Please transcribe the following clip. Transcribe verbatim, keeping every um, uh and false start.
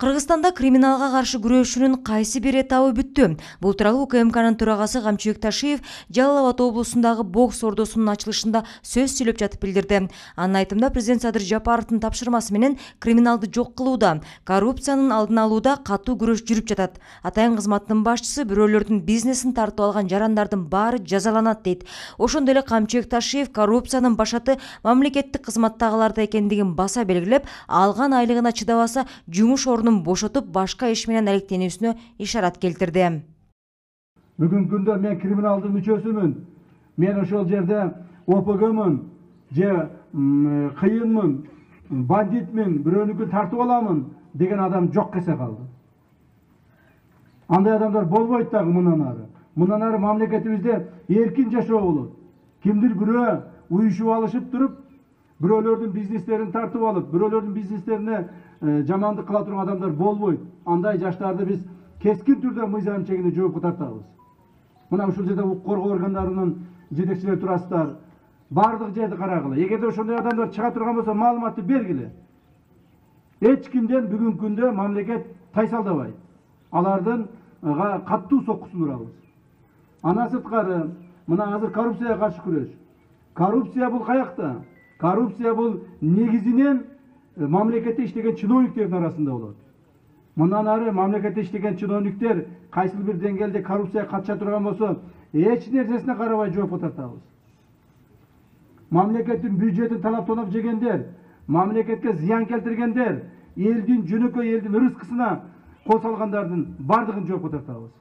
Кыргызстанда криминалга каршы күрөшүүнүн кайсы бир этабы бүттү. Бул тууралуу УКМКнын төрагасы Камчыбек Ташиев Жалал Абад облусундагы бокс ордосунун ачылышында сөз сүйлөп жатып билдирди. Анын айтымында президент Садыр Жапаровдун тапшырмасы менен криминалды жок кылууда, коррупциянын алдын алууда катуу күрөш жүрүп жатат. Атайын кызматтын башчысы бирөөлөрдүн бизнесин тартып алган жарандардын баары жазаланат дейт. Ошондой эле Камчыбек Ташиев коррупциянын башаты мамлекеттик кызматтагыларда экендигин баса белгилеп, алган айлыгына чыдабаса жумуш ордунун бошотуп башка иш менен алектенүүсүнө ишарат келтирди. Бүгүнкү күндө мен криминалдын мүчөсүмүн. Мен ошол жерде О П Гмын, же кыйынмын, бандитмин, бирөөнүкүн тартып аламын деген адам жок эсе калды. Андай адамдар болбойт дагы мындан ары. Мындан ары мамлекетибизде эркин жашоо болот. Кимдир бирөө уюшуп алышып туруп, бирөөлөрдүн бизнестерин тартып алып, бирөөлөрдүн бизнестерине жамандык кыла турган адамдар болбойт. Андай жаштарды биз кескин түрдө мыйзам чегинде жоопко тартабыз. Мына ушул жерде укук коргоо органдарынын жетекчилери турасыздар. Бардык жерди карагыла. Эгерде ошондой адамдар чыга турган болсо, маалыматты бергиле. Эч кимден бүгүнкү күндө мамлекет тайсалдабайт. Алардын каттуу соккусун урабыз. Андан сырткары, мына азыр коррупцияга каршы күрөш. Коррупция бул каякта? Коррупция бул негизинен мамлекетте иштеген чиновниктердин арасында болот. Мындан ары мамлекетте иштеген чиновниктер кайсы бир деңгээлде коррупцияга катыша турган болсо, эч нерсесине карабай жоопко тартабыз. Мамлекеттин бюджетин талап тонап жегендер, мамлекетке зыян келтиргендер, элдин жөнөкөй элдин рызкысына кол салгандардын бардыгын жоопко тартабыз.